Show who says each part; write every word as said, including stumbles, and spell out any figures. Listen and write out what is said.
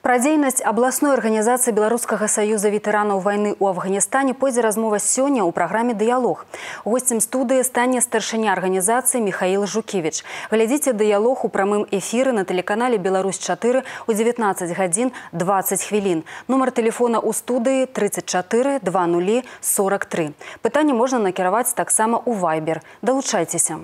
Speaker 1: Пра дзейнасць абласной арганізацыі Беларускага саюза ветэранаў вайны ў Афганістане пойдзе размова сёння ў праграме «Дыялог». Госцем студыі стане старшыня арганізацыі Михаил Жукевич. Глядзіце «Дыялог» у прамым эфіры на тэлеканале «Беларусь чатыры» у дзевятнаццаць гадзін дваццаць хвілін. Нумар тэлефона ў студыі тридцать четыре двадцать сорок три. Пытанне можна накіраваць таксама ў Вайбер. Далучайцеся.